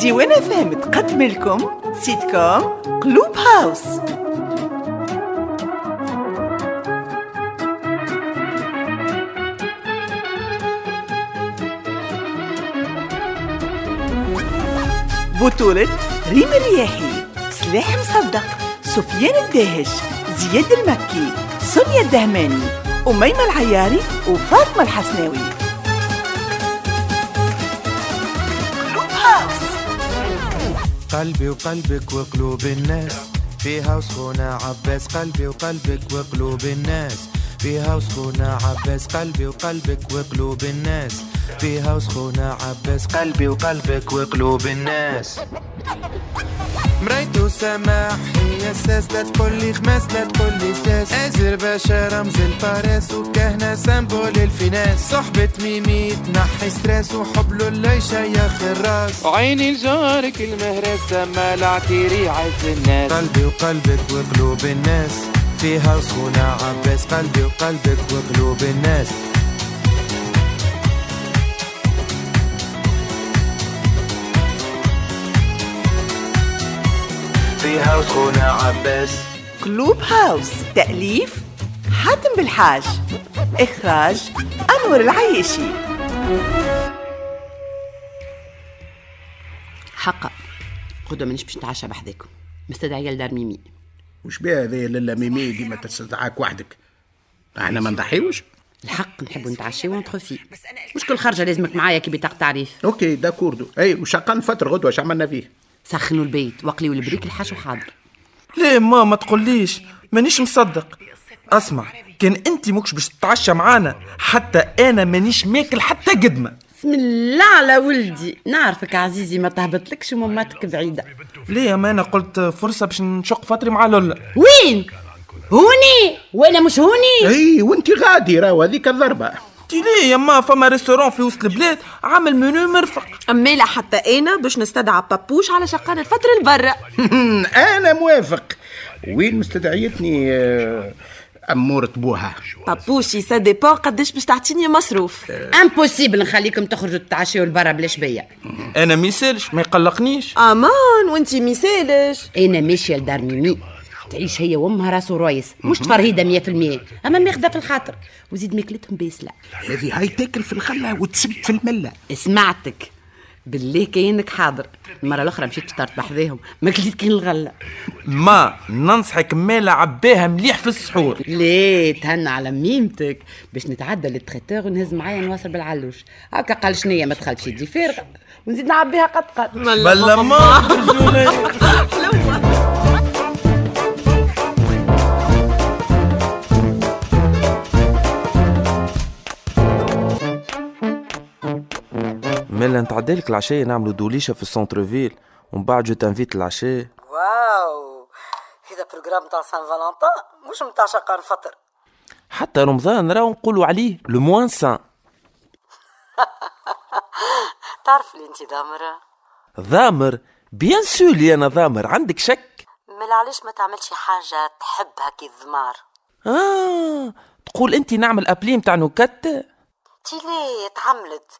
ديوان FM تقدم لكم سيت كوم قلوب هاوس. بطولة ريم الرياحي، سلاح مصدق، سفيان الداهش، زياد المكي، سونيا الدهماني، أميمة العياري وفاطمة الحسناوي. قلوب هاوس. قلبي وقلبك وقلوب الناس فيها وسخونة عباس. قلبي وقلبك وقلوب الناس فيها وسخونة عباس. قلبي وقلبك وقلوب الناس فيها وسخونة عباس. قلبي وقلبك وقلوب الناس. مريتو سماح هي الساس، لا تقول لي خماس لا تقول لي ساس. ازر باشا رمز الباريس وكهنة symbole ال finesse. صحبة ميمي تنحي stress وحب له يشيخ الراس. عيني لجارك المهرس سما العتيري عز الناس. قلبي وقلبك وقلوب الناس فيها وسخونة عباس. قلبي وقلبك وقلوب الناس. فيها وسخونة عباس. قلوب هاوس، تأليف حاتم بالحاج، إخراج أنور العيشي. حقا غدوة مانيش باش نتعشى بحذاكم، مستدعية لدار ميمي. وش بها هذه لالا ميمي ديما تستدعاك وحدك؟ احنا ما نضحيوش؟ الحق نحبوا نتعشيو entre filles، مش كل خرجه لازمك معايا كي بطاقة تعريف. OK d'accord. اي وشقان فتر غدوه اش عملنا فيه؟ سخنوا البيت وقليوا البريك الحشو حاضر. ليه ما تقوليش؟ مانيش مصدق. اسمع، كان انت ماكش باش تتعشى معانا حتى انا مانيش ماكل حتى قدمه. بسم الله على ولدي، نعرفك عزيزي ما تهبطلكش وماماتك بعيدة. ليه؟ ما انا قلت فرصة باش نشق فتري مع لولا. وين؟ هوني وانا مش هوني؟ اي وانت غادي راهو هذيك الضربة. انت ليه يما فما restaurant في وسط البلاد عامل منو مرفق. امالا حتى انا باش نستدعى بابوش على شقان الفترة البرة. انا موافق. وين مستدعيتني أمورة بوها؟ بابوشي ça dépend قداش باش تعطيني مصروف. impossible نخليكم تخرجوا تتعشيوا لبرا بلاش بيا. انا ميسالش ما يقلقنيش. امان وانتي ميسالش. انا ماشية لدار ميمي تعيش هي وامها راس ورايس، مش تفرهيده 100%، اما ماخذه في الخاطر وزيد ماكلتهم باسله. هذه هاي تاكل في الخلة وتسب في الملة. سمعتك بالله كاينك حاضر. المرة الاخرى مشيت فطرت بحذاهم ما كليت كان الغلة. ما ننصحك مالا عباها مليح في السحور. ليه تهنى على ميمتك باش نتعدى لل traiteur ونهز معايا نواصل بالعلوش هكا. قال شنية ما دخلتش يدي فارغة ونزيد نعبيها قد قد. بلا ما مالا نتعدالك العشاء نعملو دوليشه في ال centre-ville ومن بعد je t'invite العشاء. واو هذا programme تاع Saint-Valentin مش متاع شقان فطر. حتى رمضان راهو نقولوا عليه le moins saint. تعرف اللي انت ضامره؟ ضامر bien sûr لي انا ضامر. عندك شك؟ مالا علاش ما تعملش حاجة تحبها كي الضمار؟ تقول انت نعمل appli متاع نكت؟ تي ليه تعملت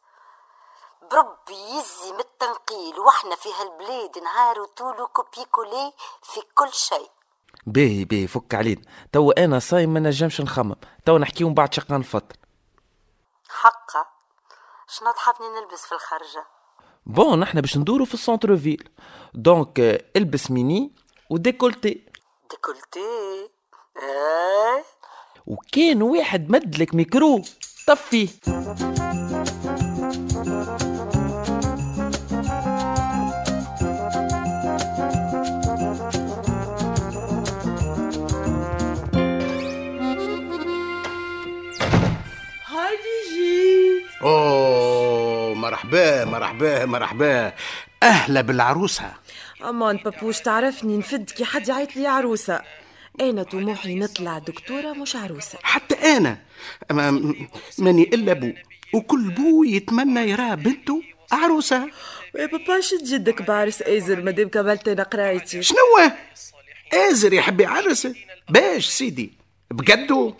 بربي يزي من التنقيل واحنا في هالبلاد نهار وطولو copier-coller في كل شيء. باهي باهي فك علينا تو انا صايم ما نجمش نخمم. تو نحكيو من بعد شقان الفطر. حقا شنو تحبني نلبس في الخرجه؟ bon نحنا باش ندورو في ال centre-ville donc البس mini و décolleté. ديكولتي ايه. وكان واحد مدلك ميكرو طفيه. اوه مرحبا مرحبا مرحبا، اهلا بالعروسه. امان بابوش تعرفني نفد كي حد يعيط لي عروسه. انا طموحي نطلع دكتورة مش عروسه. حتى انا ماني الا بو، وكل بو يتمنى يرى بنته عروسه. يا بابا شد جدك بعرس ازر مادام كملت انا قرايتي. شنو ازر يحب يعرس؟ باش سيدي بجدو.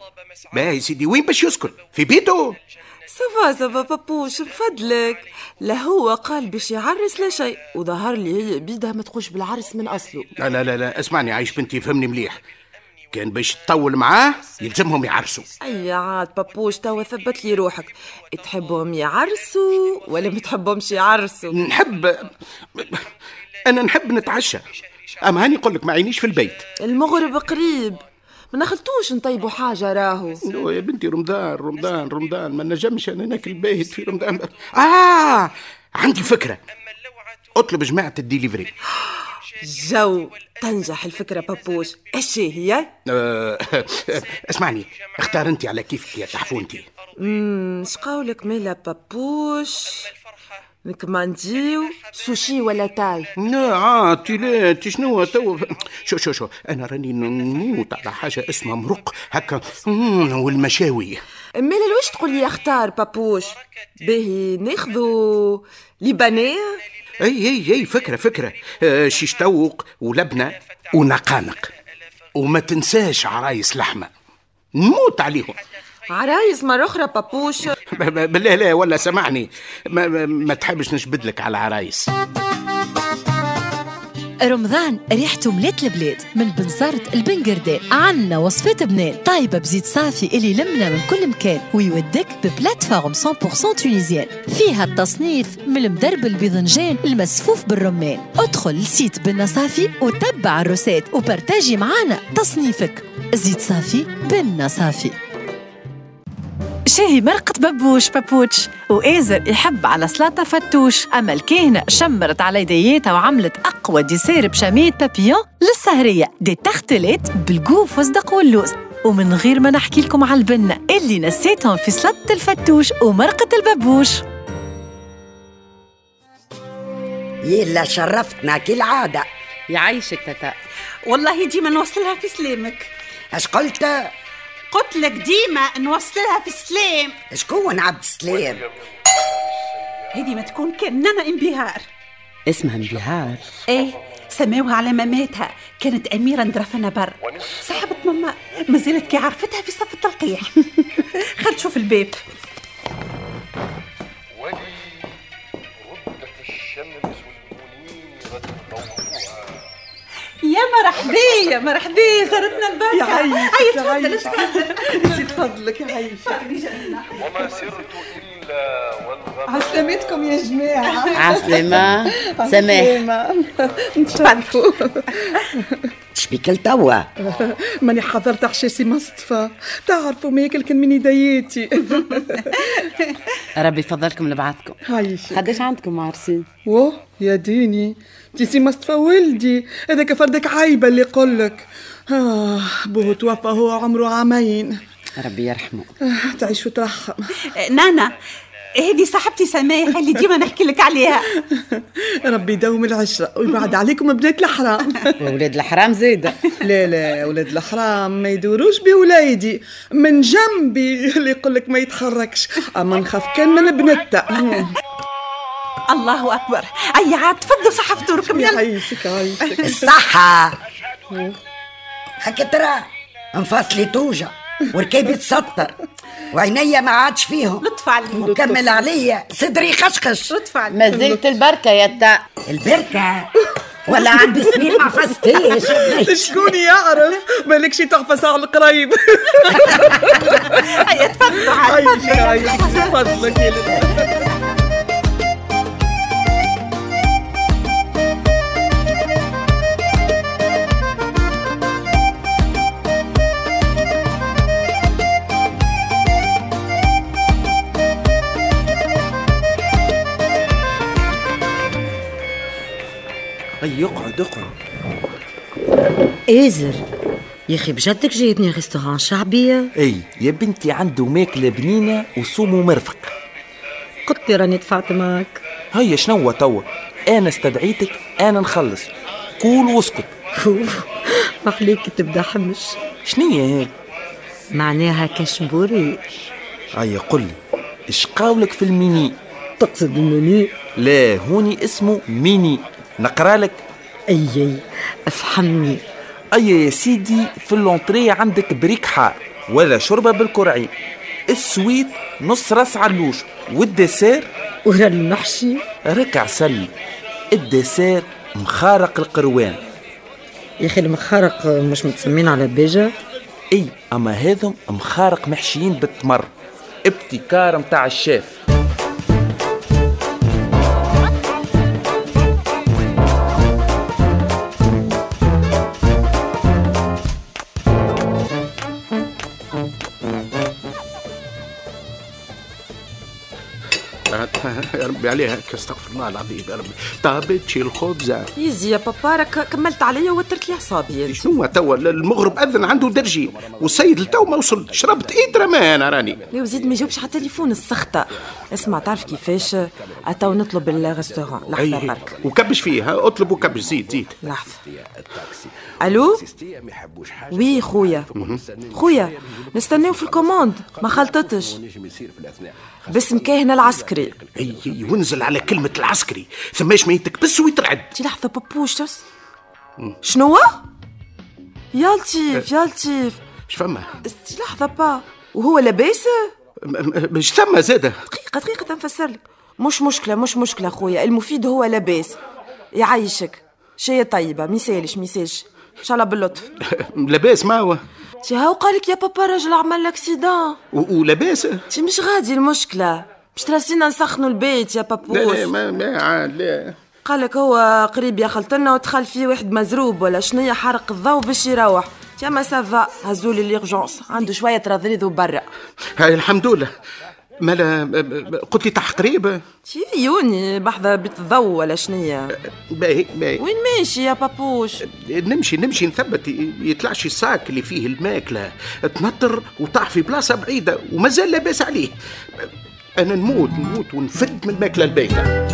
باهي سيدي وين باش يسكن؟ في بيته؟ ça va ça va بابوش نفدلك. لا هو قال باش يعرس لا شيء، وظهر لي هي بيدها ما تخش بالعرس من اصله. لا لا لا لا، اسمعني عايش بنتي، فهمني مليح، كان باش تطول معاه يلزمهم يعرسوا. اي عاد بابوش توا ثبت لي روحك، تحبهم يعرسوا ولا ما تحبهمش يعرسوا؟ نحب، انا نحب نتعشى، اما هاني نقول لك ما عينيش في البيت. المغرب قريب، ما نخلطوش نطيبوا حاجة راهو. يا بنتي رمضان رمضان رمضان، ما نجمش انا ناكل باهت في رمضان. عندي فكرة، اطلب جماعة الديليفري. جو تنجح الفكرة بابوش. ايش هي؟ اسمعني، اختار انت على كيفك يا تحفونتي. شقاولك مالا بابوش؟ نكمانديو سوشي ولا تاي؟ لا عاطي، لا انت شنو تو؟ شو شو شو، انا راني نموت على حاجة اسمها مرق هكا والمشاوي. مالا لواش تقول لي اختار بابوش؟ باهي ناخذو libanais. اي اي اي، فكرة فكرة. شيش توق ولبنة ونقانق، وما تنساش عرايس لحمه، نموت عليهم. عرايس مرة أخرى بابوش. بالله لا ولا سمعني، ما تحبش نجبد لك على عرايس. رمضان ريحته ملات البلاد، من بنزرت البنقردان عنا وصفات بنان طايبة بزيت صافي اللي لمنا من كل مكان ويودك ب plateforme 100% tunisienne، فيها التصنيف من المدرب البيضنجان المسفوف بالرمان. ادخل ل site بنا صافي وتبع ال recettes و partager معانا تصنيفك. زيت صافي بنا صافي. شاهي مرقة ببوش بابوتش، وآزر يحب على سلطة فتوش، أما الكاهنة شمرت على يديتها وعملت أقوى dessert بشامية بابيون للسهرية، des tartelettes بال goût فستق واللوز، ومن غير ما نحكي لكم على البنة اللي نسيتهم في سلطة الفتوش ومرقة الببوش. يلا شرفتنا كالعادة. يعيشك تتا، والله ديما نوصلها في سلامك. اش قلت؟ قلت لك ديما نوصلها في السلام. شكون عبد السلام؟ هذه ما تكون كان نانا انبهار. اسمها انبهار؟ ايه، سماوها على ماماتها، كانت أميرة ندرفنا بر، صاحبة ماما، ما زالت كي عرفتها في صف التلقيح. خل تشوف الباب. يا مرحبا يا مرحبا، زارتنا البركة. هيا تفضل تفضل. يزيد فضلك يا عايشة. وما سرت إلا والغمام. عسلامتكم يا جماعة. عسلامة. سماح. نتشرفوا. شبيك لتوا؟ ماني حضرت عشاسي مصطفى، تعرفوا ما ياكل كان من يدياتي. ربي يفضلكم لبعضكم. عايشك. قداش عندكم عرسين؟ واه يا ديني، تي مصطفى ولدي هذاك فردك عايبه اللي يقولك. بوه توفى هو عمره 2 عام. ربي يرحمه. تعيش وترحم. نانا هذه صاحبتي سماح اللي ديما نحكي لك عليها. ربي يدوم العشرة ويبعد عليكم بنات الحرام. وولاد الحرام زايدة. لا لا، ولاد الحرام ما يدوروش بولادي من جنبي، اللي يقول لك ما يتحركش، اما نخاف كان من بنته. الله اكبر. اي عاد تفضلوا صحة فطوركم. يلا يعيشك عايشك. الصحة. هكا ترى انفصلي توجع وركبي تسطر وعينيا ما عادش فيهم. لطف عليك. وكمل عليا صدري خشخش. لطف عليك. ما زلت البركة يا تا. البركة ولا عندي سنين ما عفستيش. شكون يعرف مالكش تغفص على القريب. هيا تفضلوا عاد. عايشك تفضلك يا لطف. اي اقعد اقعد. ازر يا اخي بجدك جايبني restaurant شعبية؟ اي يا بنتي، عنده ماكله بنينه وصوم ومرفق. قلت لي راني دفعت معاك. هيا شنو توا؟ انا استدعيتك انا نخلص، قول واسكت. محليك تبدا حمش. شنية هيك؟ معناها كشبوري. هيا قل لي اش قاولك في الميني؟ تقصد الميني؟ لا هوني اسمه ميني. نقرا لك؟ اي اي افهمني. اي يا سيدي، في l'entrée عندك بريك حار ولا شوربة بالكرعين، ال suite نص راس علوش، وال dessert ورا المحشي ركع سل. ال dessert مخارق القروان. يا اخي المخارق مش متسمين على بيجا؟ اي، اما هذم مخارق محشيين بالتمر، ابتكار متاع الشيف. يا ربي عليها، استغفر الله العظيم يا ربي. طابتش الخبزة يزي يا بابا، راك كملت عليا وترت لي اعصابي. شنو توا المغرب اذن عنده درجين والسيد لتو ما وصل، شربت ايدرا ما انا راني. لا وزيد ما يجاوبش على التليفون السخطه. اسمع، تعرف كيفاش؟ اتو نطلب ال restaurant. لحظة برك. وكبش فيه، اطلب وكبش. زيد زيد. لحظة. الو oui خويا، خويا نستناو في ال commande ما خلطتش. باسم كاهن العسكري. اي ونزل على كلمة العسكري ثماش ما يتكبس ويترعد. تي لحظة بابوش تس. شنو؟ يا لطيف يا لطيف. اش فما؟ تي لحظة با، وهو لاباس؟ مش ثم زاده. دقيقة دقيقة تنفسر لك. مش مشكلة مش مشكلة خويا، المفيد هو لاباس. يعيشك شيء طيبة، ميسالش ميسالش، ان شاء الله باللطف. لاباس ما هو؟ تي هاو قالك يا بابا راجل عمل l'accident ولاباس. تي مش غادي المشكلة، باش تراسينا نسخنوا البيت يا بابوش. لا لا ما عاد لا. قالك هو قريب يخلطنا ودخل فيه واحد مزروب ولا شنية حرق الضوء باش يروح. تي ما ça va، هزولي l'urgence، عنده شوية ترضريض وبرا. هاي الحمد لله. مالا قلت لي تاع قريب؟ تي يوني بحذا بيت الضوء ولا شنية. باهي باهي. وين ماشي يا بابوش؟ نمشي نثبت يطلعش ال sac اللي فيه الماكلة تنطر وطاح في بلاصة بعيدة ومازال لاباس عليه. أنا نموت نموت ونفد من الماكلة البايتة.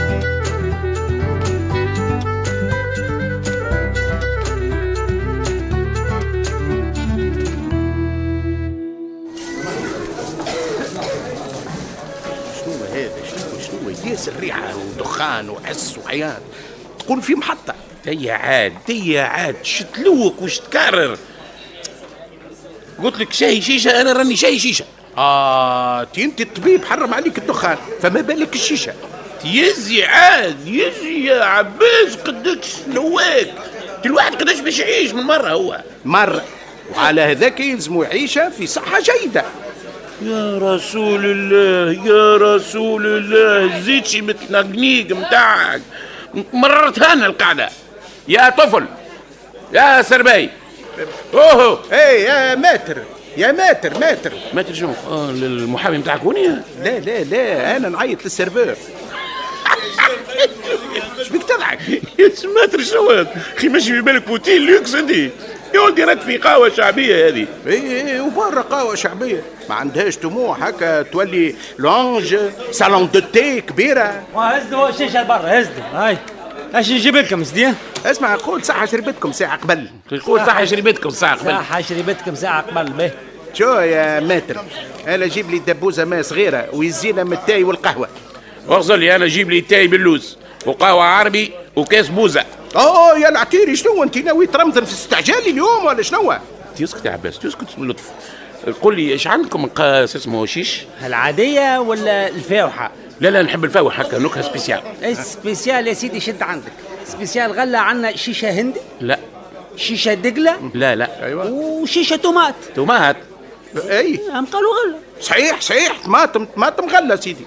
ياسر ريحة ودخان وحس وعياط، تقول في محطة. تي عاد تي عاد، شتلوك وش تكرر؟ قلت لك شاي شيشة، أنا راني شاي شيشة. تي أنت الطبيب حرم عليك الدخان، فما بالك الشيشة. يزي عاد يزي يا عباس، قداش نواك الواحد قداش باش يعيش من مرة. هو مرة، وعلى هذاك يلزمو يعيشها في صحة جيدة. يا رسول الله يا رسول الله، زيتشي متنقنيق متاعك مررتها لنا القعدة. يا طفل يا سرباي. اوه اي يا ماتر يا ماتر ماتر ماتر شنو؟ المحامي متاعك هوني؟ لا لا لا، انا نعيط لل serveur. اش بيك تضحك؟ يا maître شنو اخي؟ ماشي في بالك hôtel luxe انت يا ولدي؟ راك في قهوة شعبية هذه. اي وبرا قهوة شعبية ما عندهاش طموح هكا تولي lounge salon de thé كبيرة. هزدوا الشيشة لبرا، هزدوا. هاي اش نجيب لكم سيدي؟ اسمع، قول صحة شربتكم ساعة قبل. قول صحة شربتكم ساعة قبل. صحة شربتكم ساعة قبل. به شو يا maître، انا جيب لي دبوزه ماء صغيرة ويزينا من التاي والقهوة. اغزل لي انا جيب لي تاي باللوز وقهوة عربي وكاس بوزه. اوه يا العتيري، شنو انت ناوي ترمضن في استعجالي اليوم ولا شنو؟ تسكت يا عباس، تسكت باللطف. قول لي ايش عندكم قاس اسمه شيش؟ العادية ولا الفاوحه؟ لا لا نحب الفاوح هكا نكهة spéciale. spéciale يا سيدي شد عندك spéciale غله. عندنا شيشة هندي؟ لا. شيشة دقله؟ لا لا. ايوه. وشيشه tomate. tomate؟ اي هم قالوا غله. صحيح صحيح، طماطم طماطم غله سيدي.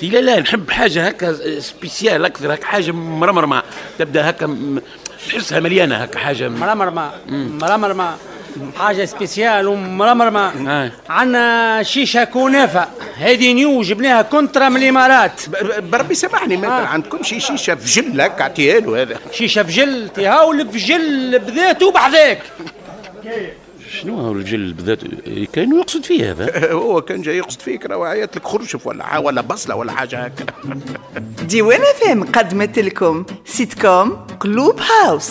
لا لا نحب حاجة هكا spéciale اكثر، هكا حاجة مرمرمه تبدا هكا تحسها مليانة هكا حاجة مرمرمه مرمرمه، حاجة spéciale ومرمرمه. عندنا شيشة كنافه، هذه نيو جبناها contre من الامارات. بربي سامحني ما عندكم شي شيشة فجل هكا اعطيها له هذا. شيشة فجل؟ تي هاو الفجل بذاته بحذاك. شنو هو الفجل بذاته؟ كانوا يقصد فيه هذا. هو كان جاي يقصد فيك، راه عيط لك خرشف ولا بصله ولا حاجة هكا. ديوان FM قدمت لكم سيتكوم قلوب هاوس.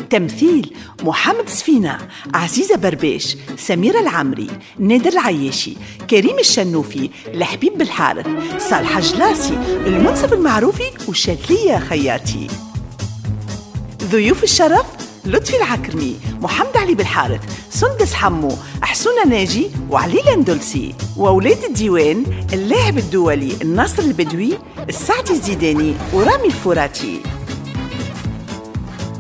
تمثيل محمد سفينة، عزيزة برباش، سميرة العمري، نادر العياشي، كريم الشنوفي، الحبيب بالحارث، صالح جلاسي، المنصف المعروفي، وشادلية خياتي. ضيوف الشرف لطفي العكرمي، محمد علي بالحارث، سندس حمو، حسونة ناجي وعلي الأندلسي. وأولاد الديوان اللاعب الدولي الناصر البدوي، السعدي الزيداني ورامي الفوراتي.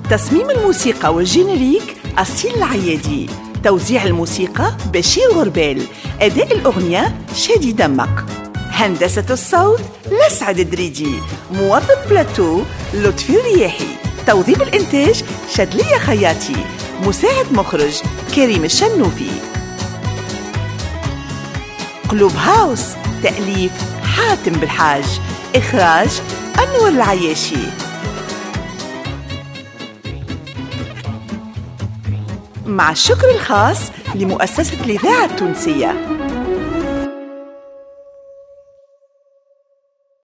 تصميم الموسيقى وال générique أصيل العيادي، توزيع الموسيقى بشير غربال، أداء الأغنية شادي دمق، هندسة الصوت لسعد الدريدي، موظف بلاتو لطفي الرياحي، توظيف الإنتاج شدلية خياتي، مساعد مخرج كريم الشنوفي. قلوب هاوس تأليف حاتم بالحاج، إخراج أنور العياشي. مع الشكر الخاص لمؤسسة الإذاعة التونسية.